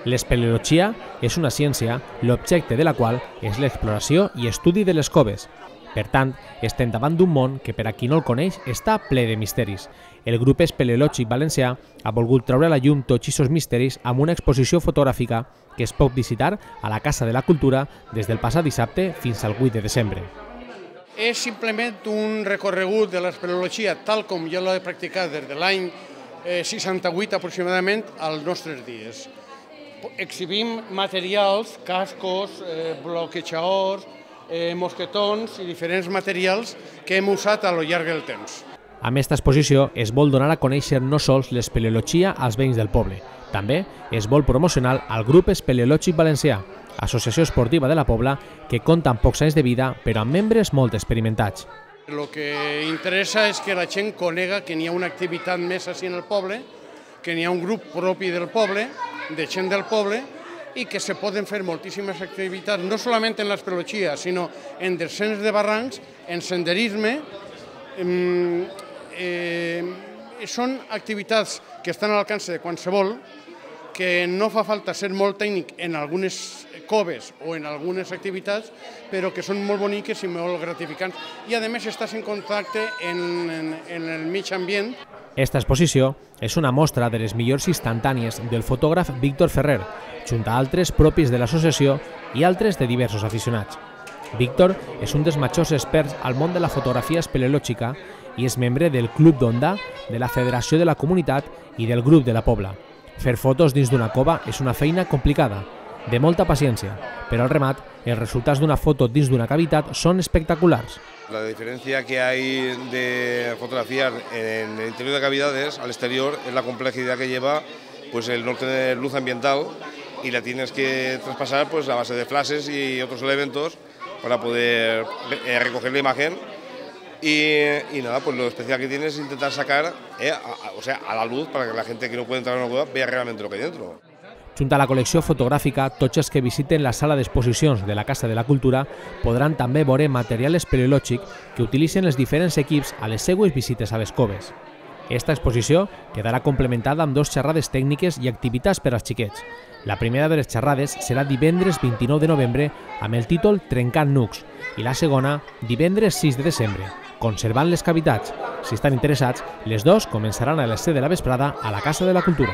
L'espeleologia és una ciència, l'objecte de la qual és l'exploració i estudi de les coves. Per tant, estem davant d'un món que, per a qui no el coneix, està ple de misteris. El grup espeleològic valencià ha volgut treure a la llum tots aquests misteris amb una exposició fotogràfica que es pot visitar a la Casa de la Cultura des del passat dissabte fins al 8 de desembre. És simplement un recorregut de l'espeleologia tal com jo l'he practicat des de l'any 68 aproximadament als nostres dies. Exhibim materials, cascos, bloquejadors, mosquetons i diferents materials que hem usat a lo llarg del temps. Amb aquesta exposició es vol donar a conèixer no sols l'espeleologia als veïns del poble, també es vol promocionar al grup espeleològic valencià, associació esportiva de la Pobla que compta amb pocs anys de vida però amb membres molt experimentats. El que interessa és que la gent conega que n'hi ha una activitat més així en el poble, que n'hi ha un grup propi del poble, de gent del poble, i que se poden fer moltíssimes activitats, no solament en l'espeleologia, sinó en descens de barrancs, en senderisme. Són activitats que estan a l'alcance de qualsevol, que no fa falta ser molt tècnic en algunes coves o en algunes activitats, però que són molt boniques i molt gratificants. I a més estàs en contacte en el mig ambient. Esta exposició és una mostra de les millors instantànies del fotògraf Víctor Ferrer, junt a altres propis de l'associació i altres de diversos aficionats. Víctor és un dels majors experts al món de la fotografia espeleològica i és membre del Club d'Onda, de la Federació de la Comunitat i del Grup de la Pobla. Fer fotos dins d'una cova és una feina complicada, de molta paciència, però al remat, els resultats d'una foto dins d'una cavitat són espectaculars. La diferencia que hay de fotografiar en el interior de cavidades al exterior es la complejidad que lleva pues, el no tener luz ambiental y la tienes que traspasar pues, a base de flashes y otros elementos para poder recoger la imagen. Y nada, pues lo especial que tiene es intentar sacar a la luz para que la gente que no puede entrar en una cueva vea realmente lo que hay dentro. Junt a la col·lecció fotogràfica, tots els que visiten la sala d'exposicions de la Casa de la Cultura podran també veure material espeleològic que utilitzen els diferents equips a les seues visites a les coves. Esta exposició quedarà complementada amb 2 xerrades tècniques i activitats per als xiquets. La primera de les xerrades serà divendres 29 de novembre amb el títol Trencant nucs i la segona divendres 6 de desembre, Conservant les cavitats. Si estan interessats, les 2 començaran a les 7 de la vesprada a la Casa de la Cultura.